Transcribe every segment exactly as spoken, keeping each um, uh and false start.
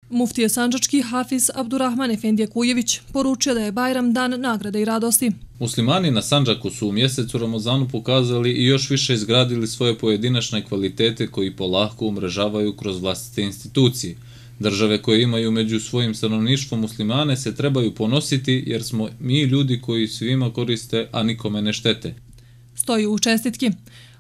Muftije sandžački Hafiz Abdurrahman Efendije Kujević poručio da je Bajram dan nagrade i radosti. Muslimani na Sandžaku su u mjesecu Ramazanu pokazali i još više izgradili svoje pojedinačne kvalitete koji polako umrežavaju kroz vlastite institucije. Države koje imaju među svojim stanovništvom muslimane se trebaju ponositi jer smo mi ljudi koji svima koriste, a nikome ne štete. Stoji u čestitki.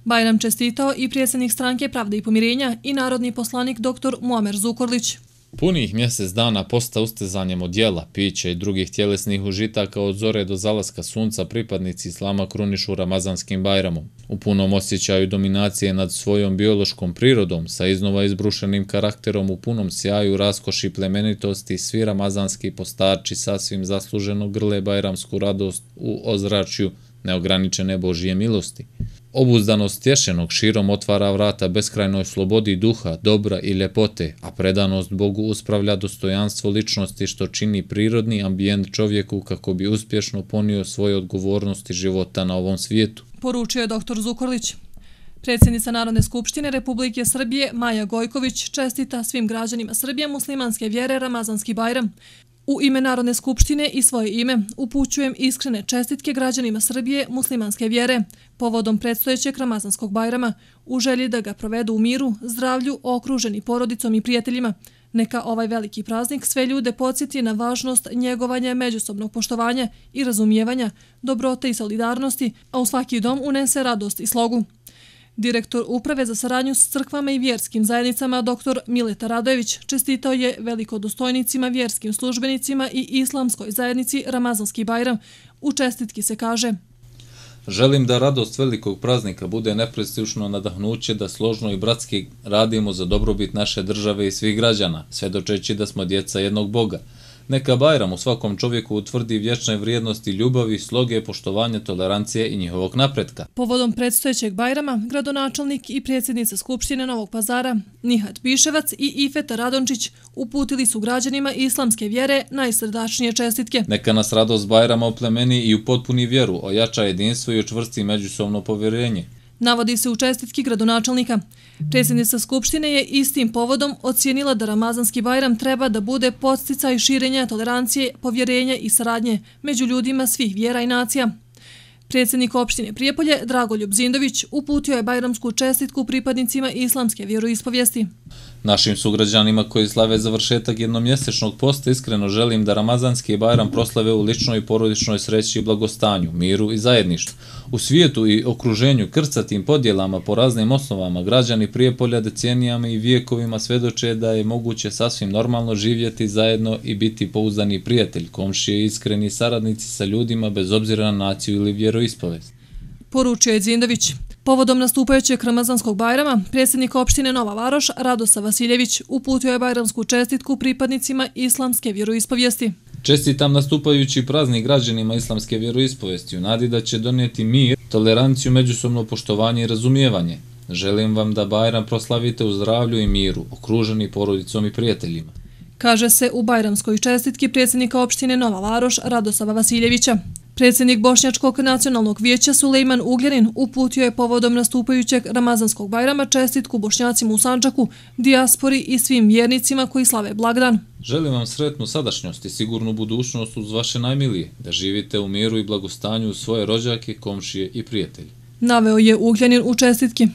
Bajram čestitao i predsjednik stranke Pravde i pomirenja i narodni poslanik doktor Muamer Zukorlić. Punih mjesec dana posta ustezanjem od jela, pića i drugih tjelesnih užitaka od zore do zalaska sunca pripadnici islama krunišu Ramazanskim Bajramom. U punom osjećaju dominacije nad svojom biološkom prirodom, sa iznova izbrušenim karakterom u punom sjaju, raskoši, plemenitosti, svi ramazanski postarči sasvim zasluženo grle bajramsku radost u ozračju neograničene Božije milosti. Obuzdanost tješenog širom otvara vrata beskrajnoj slobodi duha, dobra i ljepote, a predanost Bogu uspravlja dostojanstvo ličnosti što čini prirodni ambijent čovjeku kako bi uspješno ponio svoje odgovornosti života na ovom svijetu. Poručio je doktor Zukorlić. Predsjednica Narodne skupštine Republike Srbije Maja Gojković čestita svim građanima Srbije muslimanske vjere Ramazanski Bajram. U ime Narodne skupštine i svoje ime upućujem iskrene čestitke građanima Srbije muslimanske vjere povodom predstojećeg Ramazanskog Bajrama u želji da ga provedu u miru, zdravlju, okruženi porodicom i prijateljima. Neka ovaj veliki praznik sve ljude podsjeti na važnost njegovanja međusobnog poštovanja i razumijevanja, dobrote i solidarnosti, a u svaki dom unese radost i slogu. Direktor Uprave za saradnju s crkvama i vjerskim zajednicama doktor Mileta Radojević čestitao je velikodostojnicima, vjerskim službenicima i islamskoj zajednici Ramazanski Bajram. U čestitki se kaže: Želim da radost velikog praznika bude neprestižno nadahnuće da složno i bratski radimo za dobrobit naše države i svih građana, svedočeći da smo djeca jednog Boga. Neka Bajram u svakom čovjeku utvrdi vječne vrijednosti ljubavi, sloge, poštovanja, tolerancije i njihovog napretka. Povodom predstojećeg Bajrama, gradonačelnik i predsjednica Skupštine Novog Pazara Nihat Piševac i Ifeta Radončić uputili su građanima islamske vjere najsrdačnije čestitke. Neka nas radost Bajrama oplemeni i upotpuni vjeru, ojača jedinstvo i učvrsti međusobno povjerenje. Navodi se u čestitki gradonačelnika. Predsjednica Skupštine je istim povodom ocijenila da Ramazanski Bajram treba da bude podsticaj širenja tolerancije, povjerenja i saradnje među ljudima svih vjera i nacija. Predsjednik opštine Prijepolje Dragoljub Zindović uputio je bajramsku čestitku pripadnicima islamske vjeroispovijesti. Našim sugrađanima koji slave završetak jednomjesečnog posta iskreno želim da Ramazanski Bajram proslave u ličnoj i porodičnoj sreći i blagostanju, miru i zajedništvu. U svijetu i okruženju krcatim podjelama po raznim osnovama građani Prijepolja decenijama i vijekovima svedoče da je moguće sasvim normalno živjeti zajedno i biti pouzdani prijatelj, komšije i iskreni saradnici sa ljudima bez obzira na naciju ili vjeroispovijest. Poručio je Zindović. Povodom nastupajućeg Ramazanskog Bajrama, predsjednik opštine Nova Varoš Radosa Vasiljević uputio je bajramsku čestitku pripadnicima islamske vjeroispovijesti. Čestitam nastupajući praznik građanima islamske vjeroispovijesti u nadi da će donijeti mir, toleranciju, međusobno poštovanje i razumijevanje. Želim vam da Bajram proslavite u zdravlju i miru, okruženi porodicom i prijateljima. Kaže se u bajramskoj čestitki predsjednika opštine Nova Varoš Radosava Vasiljevića. Predsjednik Bošnjačkog nacionalnog vijeća Sulejman Ugljanin uputio je povodom nastupajućeg Ramazanskog Bajrama čestitku Bošnjacima u Sandžaku, dijaspori i svim vjernicima koji slave blagdan. Želim vam sretnu sadašnjost i sigurnu budućnost uz vaše najmilije, da živite u miru i blagostanju uz svoje rođake, komšije i prijatelje. Naveo je Ugljanin u čestitki.